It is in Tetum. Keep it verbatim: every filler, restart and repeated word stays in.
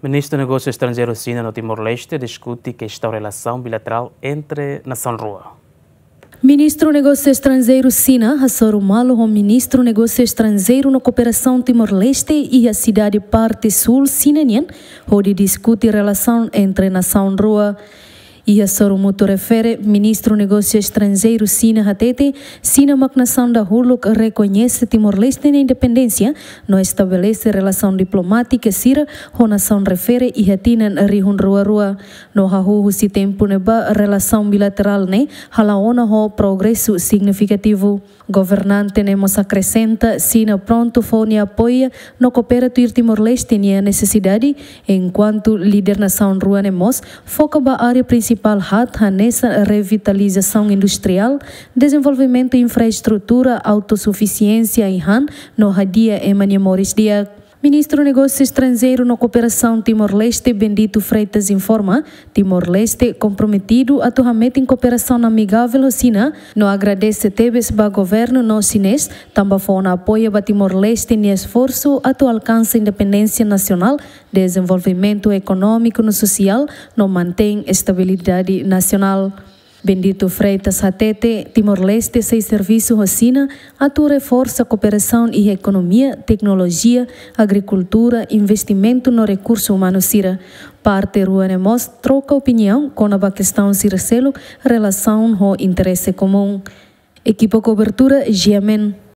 Ministru Negósiu Estranjeiru Xina no Timor-Leste diskute kestaun relasaun bilaterál entre nasaun rua. Ministru Negósiu Estranjeiru Xina hasoru malu ho Ministru Negósiu Estranjeiru no Kooperasaun Timor-Leste iha sidade parte súl Xina nian, hodi diskute relasaun entre nasaun rua. Iha sorumutu refere, Ministru Negósiu Estranjeiru Xina hatete, Xina mak nasaun dahuluk rekoñese Timor-Leste nia independénsia, no estabelese relasaun diplomátika sira ho nasaun refere iha tinan rihun rua rua. No hahú husi tempu ne'ebá relasaun bilaterál ne'e hala'o ona ho progresu signifikativu. Governante ne'e mós akresenta, Xina prontu fó nia apoiu no koopera tuir Timor-Leste nia nesesidade, enkuantu líder nasaun rua ne'e mós foka ba área prinsipál haat hanesan revitalizasaun industriál, dezenvolvimentu infraestrutura, autosufisiénsia ai-han, no hadi'a ema nia moris di'ak. Ministru Negósiu Estranjeiru no Kooperasaun Timor-Leste, Bendito Freitas, informa, Timor-Leste komprometidu atu hametin kooperasaun amigavel ho Xina, no agradese tebes ba governu no xinés, tanba fó ona apoiu ba Timor-Leste nia esforsu atu alkansa independénsia nasionál, dezenvolvimentu ekonómiku no sosiál, no mantein estabilidade nasionál. Bendito Freitas hatete, Timor-Leste sei servisu ho Xina atu reforsa kooperasaun iha ekonomia, teknolojia, agrikultura, investimentu no rekursu umanu sira. Parte rua ne'e mós troka opiniaun kona-ba kestaun sira seluk relasaun ho interese komún. Ekipa kobertura, G M N.